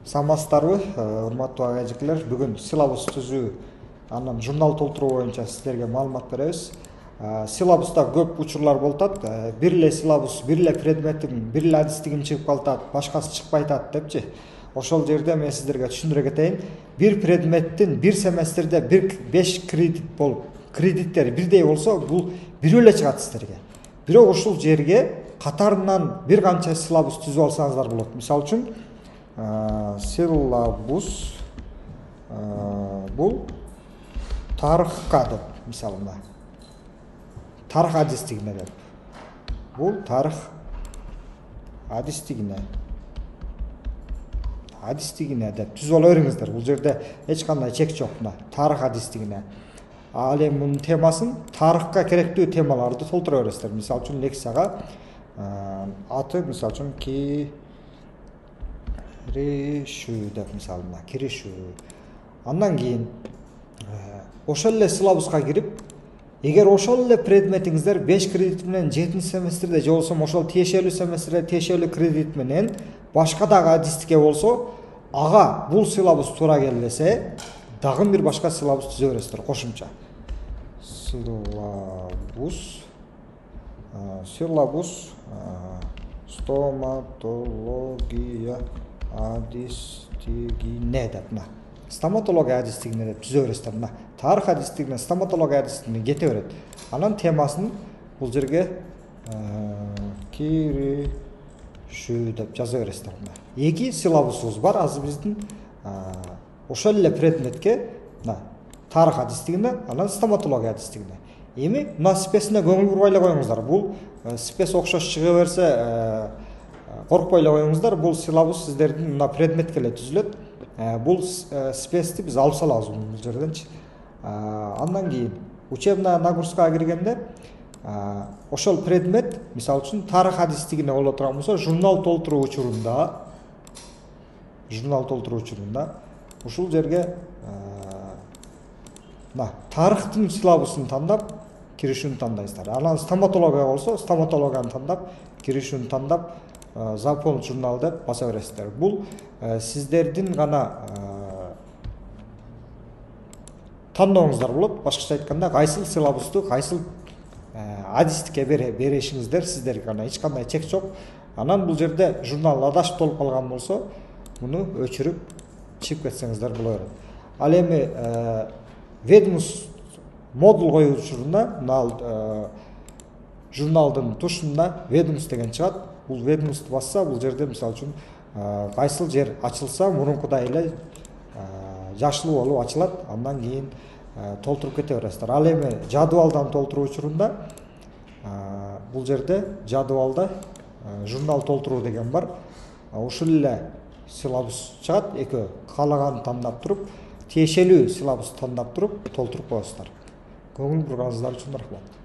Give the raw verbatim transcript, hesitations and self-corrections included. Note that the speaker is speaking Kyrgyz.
Саламатсыздарбы, урматтуу ага эжекелер. Бүгүн силабус түзүү, анан журнал толтуруу боюнча сиздерге маалымат беребиз. Силабуста көп учурлар болуп атат. Бир эле силабус, бир эле предметтин, бир эле адистигим чыгып калат, башкасы чыкпай атат депчи. Ошол жерде мен сиздерге түшүндүрө кетейин. Бир предметтин бир семестрде бир беш кредит болуп, кредиттери бирдей болсо, бул бирөө эле чыгат сиздерге. Бирок ушул жерге катарынан бир канча силабус түзүп алсаңыздар болот. Мисалы үчүн, силабус бул тарыхка деп, мисалында тарых адистигине деп, бул тарых адистигине адистигине деп түзүп ала бериңиздер. Бул жерде эч кандай чек жок. Мына тарых адистигине. Ал эми мунун темасын тарыхка керектүү темаларды толтура бересиздер. Мисалы үчүн лекцияга аты мисалы үчүн киришүү деп, мисалында киришүү. Андан кийин ошол эле силабуска кирип, эгер ошол эле предметиңиздер беш кредит менен жетинчи семестрде же болбосо ошол тиешелүү семестрде тиешелүү кредит менен башка дагы адистикке болсо, ага бул силабус туура келбесе, дагы бир башка силабус түзө бересиздер кошумча. Силабус силабус стоматология адистигине деп, мына стоматология адистигине деп түзө бересиздер. Мына тарых адистигине, стоматология адистигине кете берет. Анан темасын бул жерге киришүү деп жаза бересиздер. Мына эки силабусубуз бар азыр биздин ошол эле предметке, мына тарых адистигине, анан стоматология адистигине. Эми мына спесине көңүл бурбай эле коюңуздар. Бул спес окшош чыга берсе, коркпой эле коюңуздар. Бул силабус сиздердин мына предметке эле түзүлөт. Бул спести биз алып салабыз бул жерденчи. Андан кийин учебная нагрузкага киргенде, ошол предмет, мисалы үчүн тарых адистигине боло турган болсо, журнал толтуруу учурунда, журнал толтуруу учурунда ушул жерге мына тарыхтын силабусун тандап, киришүүнү тандайсыздар. Анан стоматология болсо, стоматологияны тандап, киришүүнү тандап, заполнить журнал деп баса бересиздер. Бул сиздердин гана тандооңуздар болот. Башкача айтканда, кайсыл силабусту, кайсыл адистикке беришиңиздер сиздерге гана, эч кандай чек жок. Анан бул жерде журнал адашып толуп калган болсо, муну өчүрүп чыгып кетсеңиздер боло берет. Ал эми ведомство модул коюу учурунда, мына журналдын тушунда ведомство деген чыгат. Бул ведомство басса, бул жерде мисалы үчүн кайсыл жер ачылса, мурункудай эле жашыл болуп ачылат. Андан кийин толтуруп кете бересиздер. Ал эми жадыбалдан толтуруу учурунда бул жерде жадыбалда журнал толтуруу деген бар. Ушул эле силабус чыгат, экөө каалаганын тандап туруп, тиешелүү силабусту тандап туруп толтуруп коесуздар. Көңүл бурганыңыздар үчүн рахмат.